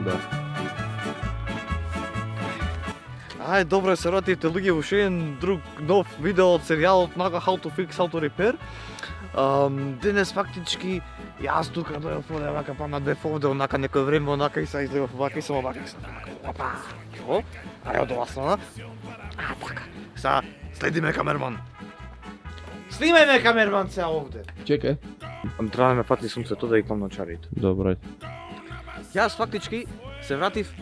Да. Ај, добро се вративте луѓе во уште еден друг нов видео од серијалот Нака How to Fix, How to Repair. Денес фактички јас тука дојдов овде вака па надбев овде онака некој време онака и се излегов вака и само вака и само опа. Што? Ај од ова страна. Така. Са следиме камерман. Снимај камерман се овде. Чекај. Треба да ме фати сунцето да ги клам на чарите. Добро. Јас фактички се вратив,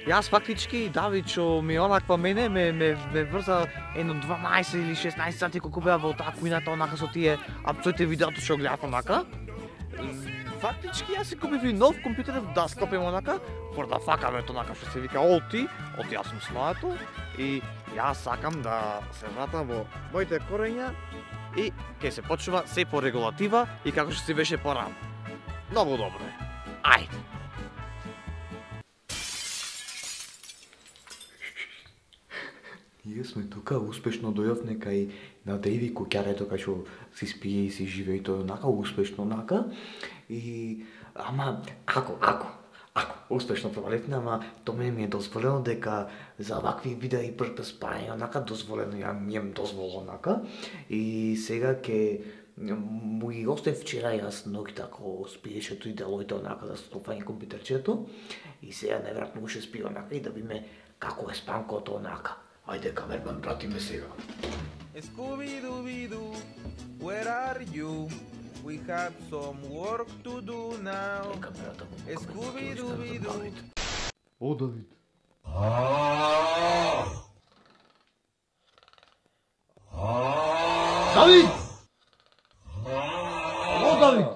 јас фактички Давичо ми онаква мене ме врза едно 12 или 16 сати колку беа во таа кујната онака со тие апцоите видеото што гледав онака. Фактички јас си купив и нов компјутер да склопим онака, for да факаме онака што се вика оти јас сум сноето и јас сакам да се вратам во моите корења и ќе се почнува се по регулатива и како што си беше порано. Многу добро е. Ајде. Ние сме тука, успешно дојавме кај на Дејви куќарето кај што си спие и си живее и тој онака успешно онака. И ама ако успешно проваливме, ама тоа мене ми е дозволено дека за вакви видеи прв спајање онака дозволено ми е дозволено онака. И сега ќе му ги остав вчера јас ноќта ако спиеше тој делоите онака за стопање компјутерчето и сега најверојатно уште спие онака и да видиме како е спанкото онака. Ајде камерман, пратиме сега. Scooby-Dooby-Doo, where are you? We have some work to do now. Scooby-Dooby-Doo. О, Давид. Давид! О, Давид!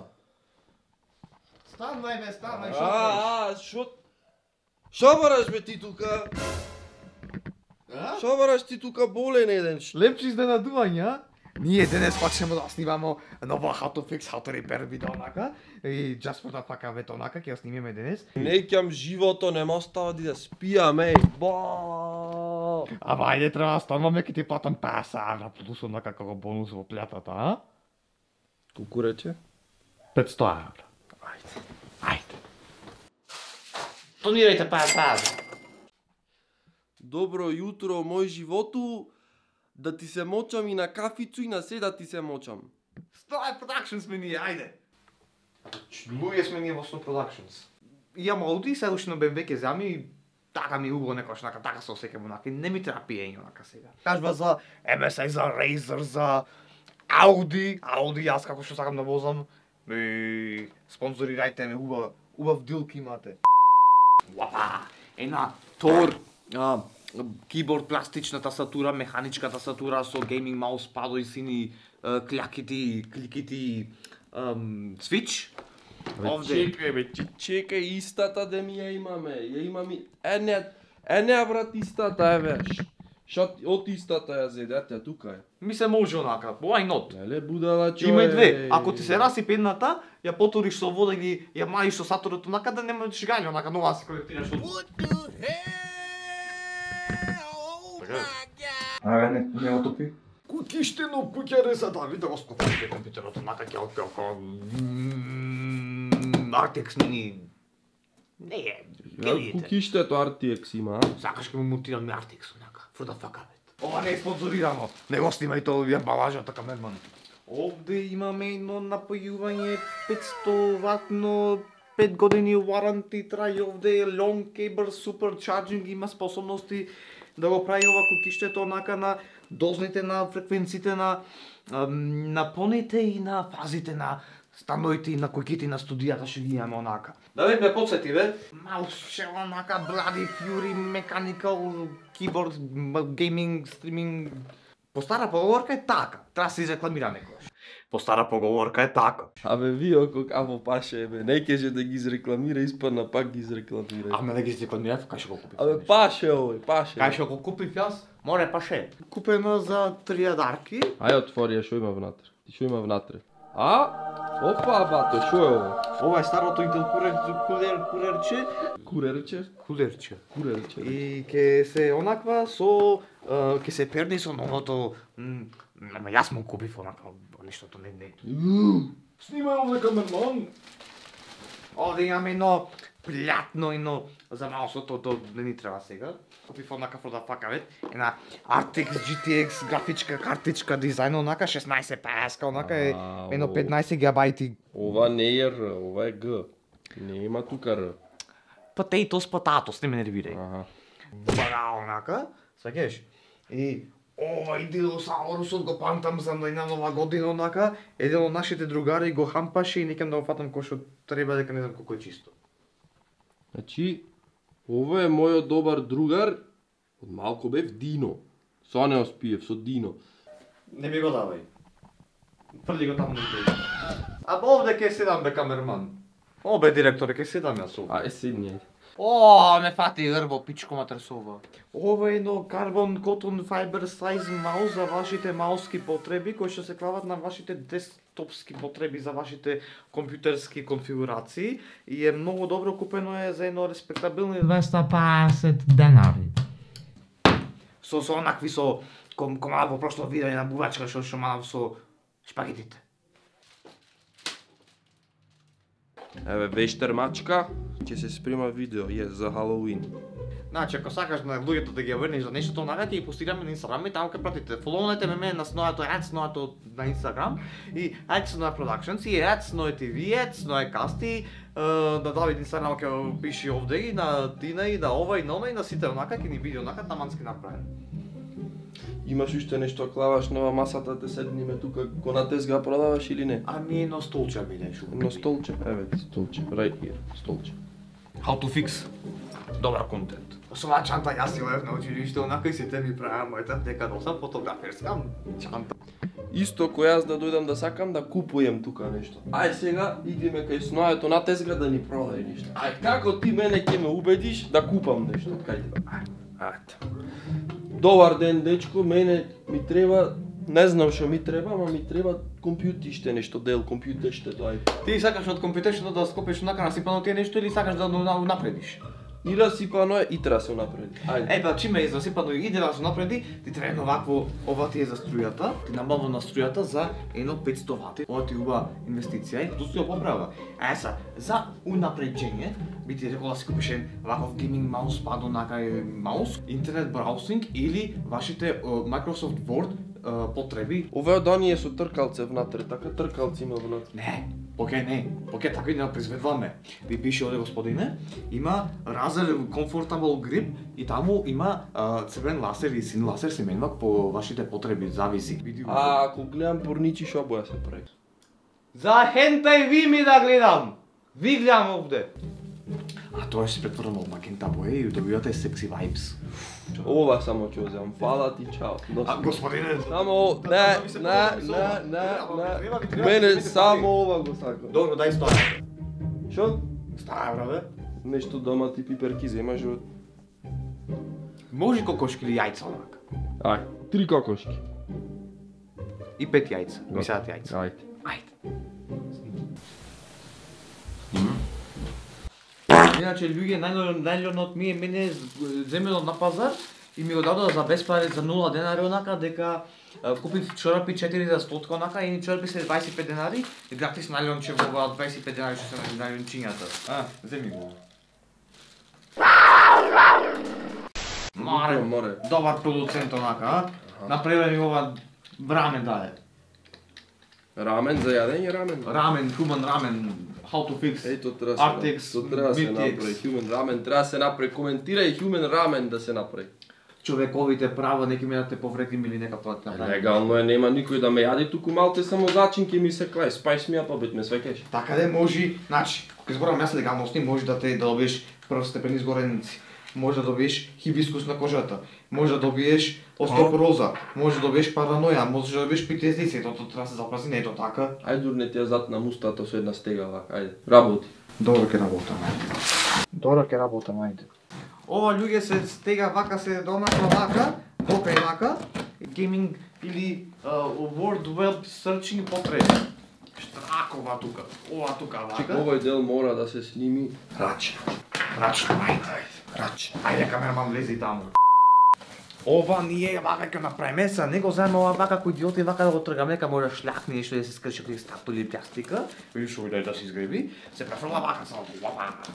Станвај, Шо? Шо бараш бе ти тука? Шо бараш ти тука болен еден? Лепче изненадување, а? Ние денес почнеме да снимамо нова How to Fix, How to Repair видео онака и just for the fuck вето онака ќе ја снимиме денес. Неќам живото нема остава да спијаме. Ама ајде треба да стануваме ќе ти платам 50 евра плюс онака како бонус во платата, а? Колку рече? 500 евра. Ајде. Донирајте 50 евра. Добро јутро, мој животу, да ти се мочам и на кафицу и на се да ти се мочам. Snow Productions сме ние, ајде. Луѓе сме ние во Snow Productions. Имам Ауди, сега уште на BMW ќе зами и така ми убаво некојаш онака, така се осеќам онака, не ми треба пиење онака сега. Кажува за MSI, за Razer, за Ауди, јас како што сакам да возам. И спонзорирајте ме, убав дилки имате. Уапа, една Тор, киборд, пластична тасатура, механичка тасатура со гейминг маус, падои сини, клјакити, кликити, свич. Овде. Чекај, истата да ми ја имаме. Ја имаме ене брат истата еве. Од истата ја зедете тука е. Ми се може онака, why not? Леле будала човек. Има и две. Ако ти се расипе едната, ја потуриш со вода или ја маиш со саторот онака да нема шигање онака, нова се колектираш од. Не отопи. Кукиштено куќаре за Давид да го скопате компјутерот онака ќе како Artex Mini. Не е. Кукиштето RTX има. Сакаш ке му монтирам Artex онака. For the fuck up. Ова не е спонзорирано. Не го снимај тоа ја балажата камерман. Овде имаме едно напојување 500 ватно 5 години warranty трај овде long cable super charging има способности да го прави ова кукиштето онака на дозните на фреквенциите на напоните и на фазите на становите и на куќите на студијата што ги имаме онака. Давид ме потсети бе. Малше онака Bloody Fury Mechanical Keyboard Gaming Streaming. По стара поговорка е така. Треба се изрекламира некојаш. По стара поговорка е така. Абе вие како паше бе, не кеже да ги изрекламира, испадна пак ги изрекламира. Ама да ги изрекламира, кај што го купив? Абе паше овој, паше. Кај што го купив јас? Море паше. Купено за 3000 Ај отвори ја што има внатре. Ти што има внатре? Опа бато, што е ово? Ова е старото Intel кулерче. И ќе се онаква со ќе се перни со новото јас му купив онака нештото не. Снимај овде камерман. Овде имаме едно плятно ино за маусот, то не ни треба сега. Купив однака for the fuck of it, една RTX GTX графичка картичка дизајн, онака 16 паска, онака е едно 15 гигабајти. Ова не е Р, ова е Г. Не има тука Р. Potatoes, не ме нервирај. Аха. Бага, онака, сваќаш? И овај диносаурусот го памтам за една нова година, онака, еден од нашите другари го хампаше и некам да го фатам кој што треба, дека не знам колку е чисто. Значи, ова е мојот добар другар, од малку бев Дино. Со не оспиев, со Дино. Не ми го давај. Фрли го таму на тебе. А овде ке седам бе камерман. Обе директоре ке седам јас овде. Ај седни, ајде. О, ме фати грбо, пичко матресова. Ова е едно Carbon Cotton Fiber Size маус за вашите мауски потреби, кои што се клават на вашите десктопски потреби за вашите компјутерски конфигурации и е многу добро, купено е за едно респектабилни 250 денари. Со онакви со комада во прошло видео една бувачка што шумав со шпагетите. Еве вештермачка, ќе се спрема видео, за Халоуин. Значи, ако сакаш на луѓето да ги врнеш за нешто, онака ќе ги постираме на Инстаграм и таму ќе пратите. Фолоунете ме на Снојато @Снојато на Инстаграм и @Snoja Productions и @Snoja TV, @Snoja Касти, на Давид Инстаграм ќе пиши овде и на Тина и на ова и на она и на сите онака ќе ни биде онака тамански направен. Имаш уште нешто клаваш на масата, те седниме тука, ко на тезга продаваш или не? Ами едно столче биде шо. Едно столче, еве столче, right here, столче. How to fix. Добар контент. Со оваа чанта јас си лев на училиште, онака и сите ми правам мојата дека да сам фотограферска чанта. Исто кој јас да дојдам да сакам да купуjem тука нешто. Ај сега идеме кај Снојето на тезга да ни продај нешто. Ај како ти мене ќе ме убедиш да купам нешто од кај тебе? Ајде. Добар ден, дечко, мене ми треба, не знам што ми треба, ама ми треба компјутиште нешто, дел компјутерште, дај. Ти сакаш од компјутершто да скопиш онака насипано тие нешто или сакаш да напредиш? И расипано е, и треба се напреди. Ајде. Па чиме е засипано и иде да се напреди, ти треба овакво, ова ти е за струјата, ти набавно на струјата за едно 500 вати. Ова ти е убава инвестиција и тоа се поправа. За унапреđење, би ти рекол да си купиш ваков гейминг маус, па онака маус, интернет браусинг или вашите Microsoft Word потреби. Ова од оние со тркалце внатре, така тркалци има внатре. Не, поке така и не произведуваме. Ви пише овде господине, има Razer Comfortable Grip и таму има црвен ласер и син ласер се менува по вашите потреби, зависи. А ако гледам порничи шо боја се прави? За хентај ви ми да гледам! Ви гледам овде! А тоа се претворено во магента боја и добивате секси vibes. Ова само ќе земам. Фала ти, чао. А господине, Само мене само ова го сакам. добро, дај 100 евра. Шо? 100 евра, бе. Нешто дома ти пиперки земаш од... Може кокошки или јајца онака. Ај, 3 кокошки. И 5 јајца, мисат јајца. Ајде. Ајде. Иначе луѓе најлонот ми е мене земено на пазар и ми го дадоа за беспари за 0 денари онака дека купив чорапи 4 за 100 онака и чорапи се 25 денари и гратис најлонче во оваа 25 денари што се најлончињата. Земи го. Море. Добар продуцент онака, направи ми ова рамен даде. Рамен за јадење рамен. Рамен, human ramen, how to fix. Еј, тоа треба RTX, се направи. Human ramen треба се направи. Коментирај human ramen да се направи. Човековите права, неки ме да те повредим или нека тоа направи. Легално е, нема никој да ме јади, туку малте само зачин ќе ми се клај. Spice me up a bit, ме свекеш. Така де може, значи, кога зборам јас легалности, може да те да добиеш првостепени изгореници. Може да добиеш хибискус на кожата, може да добиеш остеопороза, може да добиеш параноја, може да добиеш PTSD, тоа треба да се запази, не е тоа така. Ајде дурне ти ја зад на мустата со една стега вака, ајде. Работи. Добро ќе работам, ајде. Добро ќе работам, ајде. Ова луѓе се стега вака, се донаква вака, докрај вака, гейминг или World Web Searching потреби. Штракова тука, ова тука вака. Овој дел мора да се сними рачно. Рачно, ајде. Рачно. Ајде камерман влези таму. Ова ние вака ќе направиме, са не го земе ова вака кој идиоти вака да го тргаме, нека може шляхне нешто да се скрши кој статули или пластика, или што да се изгреби, се префрла вака само вака.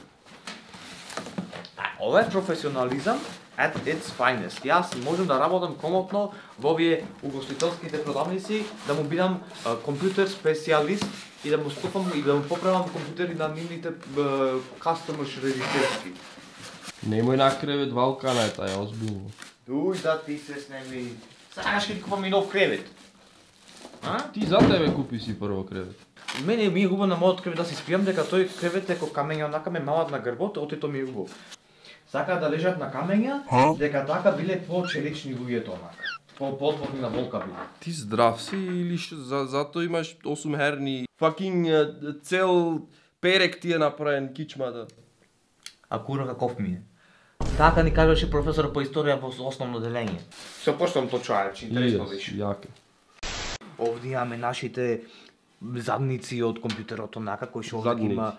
Ова е професионализам at its finest. Јас можам да работам комотно во овие угостителските продавници, да му бидам компјутер специјалист и да му стопам и да му поправам компјутери на нивните customer регистерски. Немој на кревет валкана е таја, озбилно. Дуј да ти се снеми. Сакаш ќе ти купам и нов кревет. А? Ти за тебе купи си прво кревет. Мене ми е убаво на мојот кревет да си спијам дека тој кревет е како камења онака ме малат на грбот, отето ми е убаво. Сака да лежат на камења, дека така биле по-челични луѓето онака. По-отворни на волка биле. Ти здрав си или зато имаш 8 херни, fucking цел перек ти е направен кичмата. А кура каков ми е. Така ни кажеше професор по историја во основно делење. Се поштам то чајче, интересно беше. Јаке. Овде имаме нашите задници од компјутерот онака кој што овде Задници. има.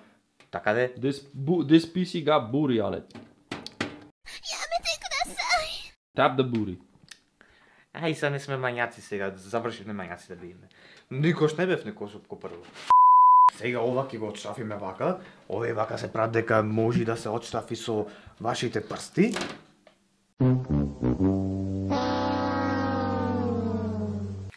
Така де? This PC got booty on it. Tap the booty. Ај, са не сме мањаци сега, завршивме мањаци да бидеме. Никош не бев некошопко прво. Сега ова ќе го отштрафиме вака, овој вака се прави дека може да се отштрафи со вашите прсти.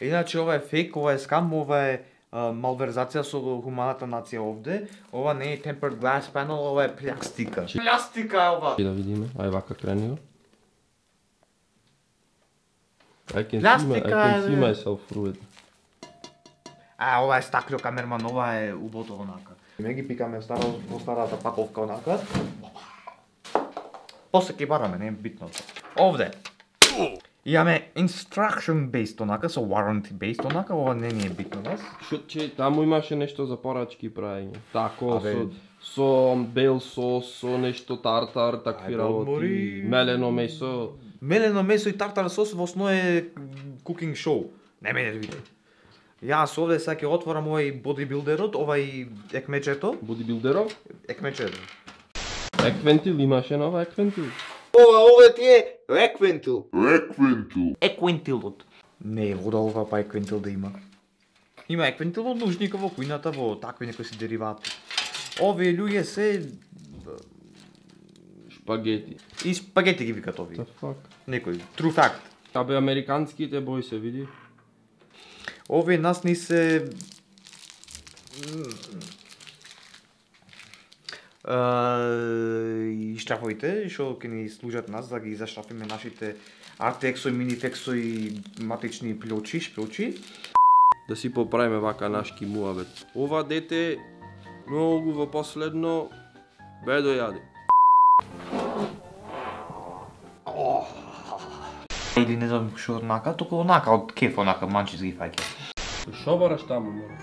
Иначе ова е фейк, ова е скам, ова е малверзација со хуманата нација овде. Ова не е tempered glass panel, ова е плястика. Плястика е ова! И да видиме, ај вака крени го. I can Пластика see е, myself through it. Ова е стакло камерман, ова е убото онака. Ме ги пикаме во старата паковка онака. После ќе бараме, не е битно. Овде. Имаме instruction based онака, со warranty based онака, ова не ни е битно нас. Че таму имаше нешто за порачки правење. Тако Абе. со бел сос, со нешто тартар, такви Ајде, работи, одмори. мелено месо. Мелено месо и тартар сос во основа е cooking show. Не мене да види. Јас овде сега ќе отворам овај бодибилдерот, овај екмечето. Бодибилдеров? Екмечето. Еквентил имаше нова еквентил. Ова ти е еквентил. Еквентилот. Не е вода ова па еквентил да има. Има еквентил во нужника, во кујната, во такви некои си деривати. Овие луѓе се Шпагети. и спагети ги викат овие. The fuck? Некој true fact. Абе американските бој се види. Овие нас ни се и штрафовите што ќе ни служат нас да ги заштрафиме нашите Artexo и Minifexo и матични плочи, шпилчи. Да си поправиме вака нашки муабет. Ова дете многу во последно бедо јаде. Или не знам што однака, току онака од кеф, онака манчис ги фаќа. Шо бараш таму, мора?